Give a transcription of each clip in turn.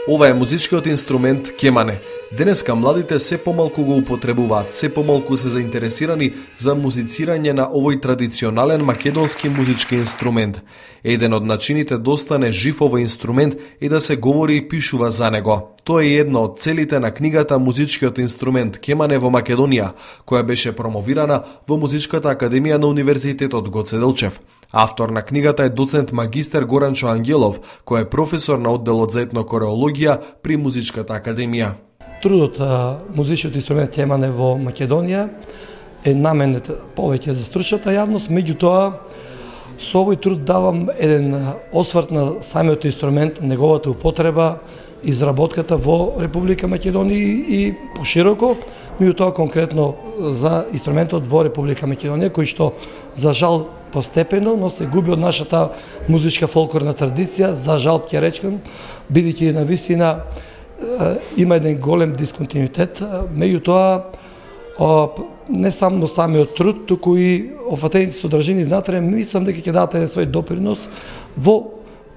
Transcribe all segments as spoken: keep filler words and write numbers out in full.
Ова е музичкиот инструмент кемане. Денеска младите се помалку го употребуваат, се помалку се заинтересирани за музицирање на овој традиционален македонски музички инструмент. Еден од начините да остане жив овој инструмент е да се говори и пишува за него. Тоа е една од целите на книгата Музичкиот инструмент кемане во Македонија, која беше промовирана во Музичката академија на Универзитетот Гоце Делчев. Автор на книгата е доцент магистер Горанчо Ангелов, кој е професор на одделот за етнокореологија при Музичката академија. Трудот музичкиот инструмент кемане во Македонија е наменет повеќе за стручната јавност, меѓутоа со овој труд давам еден осврт на самиот инструмент, неговата употреба, изработката во Република Македонија и пошироко, меѓутоа конкретно за инструментот во Република Македонија, кој што за жал постепено, но се губи од нашата музичка фолклорна традиција, за жал ќе речем, бидејќи на вистина има еден голем дисконтинуитет, меѓутоа не само самиот труд, туку и офатените содржини знатре, мислам дека ќе дадат еден свој допринос во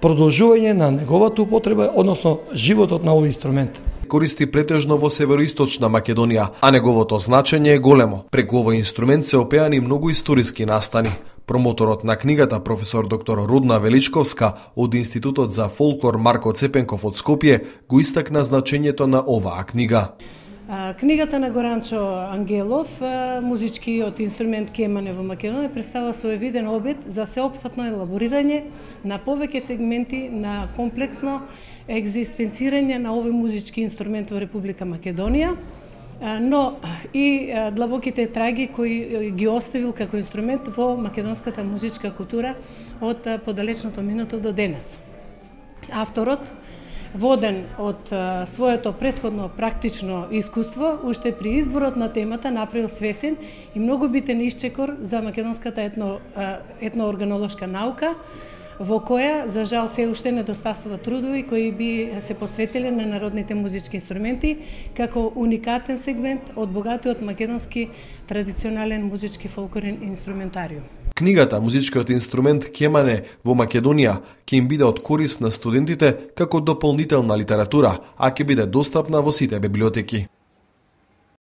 продолжување на неговата употреба, односно животот на овој инструмент. Користи претежно во североисточна Македонија, а неговото значење е големо. Преку овој инструмент се опеани многу историски настани. Промоторот на книгата, професор доктор Рудна Величковска од Институтот за фолклор Марко Цепенков од Скопје, го истакна значењето на оваа книга. Книгата на Горанчо Ангелов, Музичкиот инструмент кемане во Македонија, представува своевиден обид за сеопфатно елаборирање на повеќе сегменти на комплексно екзистенцирање на овој музички инструмент во Република Македонија, но и длабоките траги кои ги оставил како инструмент во македонската музичка култура од подалечното минато до денес. Авторот, воден од своето претходно практично искуство, уште при изборот на темата направил свесен и многу битен исчекор за македонската етно, етноорганолошка наука, во која, за жал, се уште недостасува трудови кои би се посветиле на народните музички инструменти како уникатен сегмент од богатиот македонски традиционален музички фолклорен инструментариум. Книгата Музичкиот инструмент кемане во Македонија ќе им биде од корист на студентите како дополнителна литература, а ќе биде достапна во сите библиотеки.